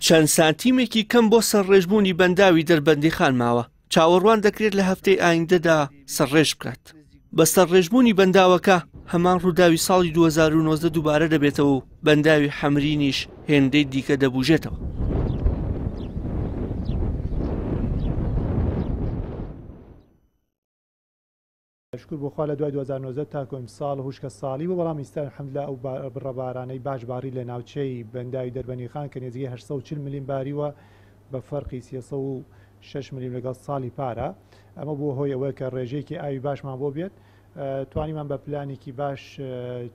چەند سانتیمێکی کەم بۆ سەرڕێژبوونی بەنداوی دەربەندیخان ماوە، چاوەڕوان دەکرێت لە هەفتەی ئایندەدا سەرڕێژ بکات. بە سەرڕێژبوونی بەنداوەکە هەمان ڕووداوی ساڵی 2019 دووبارە دەبێتەوە و بەنداوی حەمرینیش هێندەی دیکە دەبوژێتەوە. شوکر بۆ خوا لە دوای 2019 تاکو ئیمساڵ هوشکە ساڵی بوو، بەڵام ئیستا الحمدللە ئەو بڕە بارانەی باش باری لە ناوچەی بەنداوی دەربەنیخان کە نێزیکەی 840 ملیم باریوە بە فەرقی 306 ملیم لەگەڵ ساڵی پارە، ئەمە بووە هۆی ئەوەی کە ڕێژەیەکی ئاوی باشمان بۆ بێت، توانیمان بە پلانێکی باش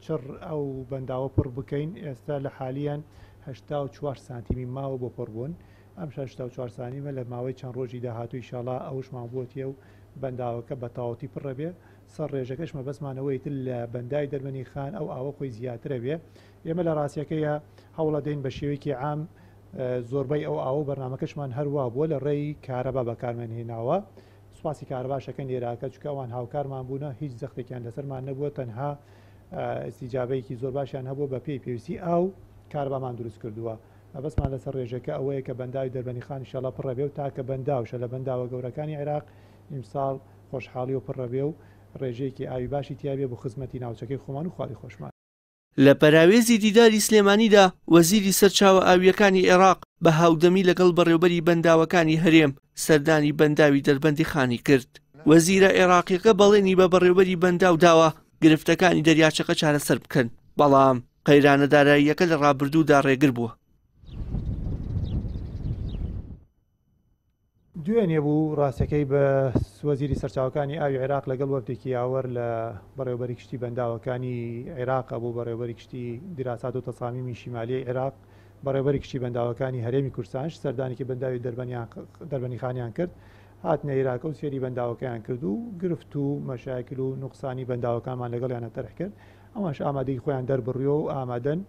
چڕ ئەو بەنداوە پڕ بکەین، ئێستا لە حالیەن 84 سانتیمی ماوە بۆ پڕبوون، ئەم 84 سانیمە لە ماوەی چەند ڕۆژی داهاتوو ئیشاڵا ئەوشمان بۆتیە و بەنداوەکە بە تەواوەتی پڕ ئەبێ، سەر ڕێژەکەش مەبەستمان ئەوەیە ئیتر لە بەنداوی دەربەنی خان ئەو ئاوە خۆی زیاتر ئەبێ، ئێمە لە ڕاستیەکەیا هەوڵەدەین بە شێوەیەکی عام زۆربەی ئەو ئاوە و بەرنامەکەشمان هەر وا بووە لە ڕێی کارەبا بەکارمان هێناوە، سوپاسی کارەباش ئەکەین لێراکە چونکە ئەوان هاوکارمان بوونە هیچ زەختێکیان لەسەرمان نەبووە تەنها ئیستیجابەیەکی زۆر باشیان هەبووە بە پێی پێویستی ئاو کارەبامان دروست کردووە. مەبەستمان لەسەر ڕێژەکە ئەوەیە کە بەنداوی دەربەنیخان ئیشەڵا پڕەبێ و تاکە بەنداوشە لە بەنداوە گەورەکانی عێراق ئیمساڵ خۆشحاڵی و پڕەبێ و ڕێژەیەکی ئاوی باشی تیابێ بۆ خزمەتی ناوچەکەی خۆمان و خواری خۆشمان. لە پەراوێزی دیداری سلێمانیدا وەزیری سەرچاوە ئاوییەکانی عێراق بە هاودەمی لەگەڵ بەڕێوبەری بەنداوەکانی هەرێم سەردانی بەنداوی دەربەندیخانی کرد. وەزیرە عێراقیەکە بەڵێنی بە بەڕێوبەری بەنداو داوە گرفتەکانی دەریاچەکە چارەسەر بکەن، بەڵام قەیرانە داراییەکە لە ڕابردوودا ڕێگر بووە. دوێنێ بوو ڕاستەکەی بە وەزیری سەرچاوەکانی ئاوی عێراق لەگەڵ وەفدێکی یاوەر لە بەڕێوەبەری گشتی بەنداوەکانی عێراق بوو، بەڕێوەبەری گشتی دیراسات و تەسامیمی شیمالیەی عێراق، بەڕێوەبەری گشتی بەنداوەکانی هەرێمی کوردستانش سەردانێکی بەنداوی دەربەنیخانیان کرد، هاتنە عێراق و سێری بەنداوەکەیان کرد و گرفت و مەشاکل و نوقسانی بەنداوەکانمان لەگەڵیانە تەرح کرد. ئەوانش ئامادەی خۆیان دەربڕیوە و ئامادەن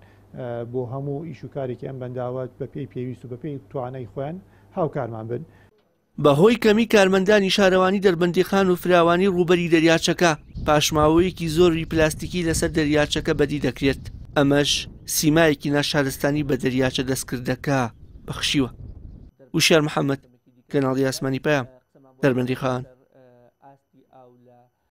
بۆ هەموو ئیش و کارێکی ئەم بەنداوە بەپێی پێویست و بەپێی توانای خۆیان هاوکارمان بن. بەهۆی کەمی کارمەندانی شارەوانی دەربەندیخان و فراوانی ڕووبەری دەریاچەکە، پاشماوەیەکی زۆری پلاستیکی لەسەر دەریاچەکە بەدی دەکرێت، ئەمەش سیمایەکی ناشارستانی بە دەریاچە دەستکردەکە بەخشیوە. وشیار محەمەد، کەناڵی ئاسمانی پەیام، دەربەندیخان.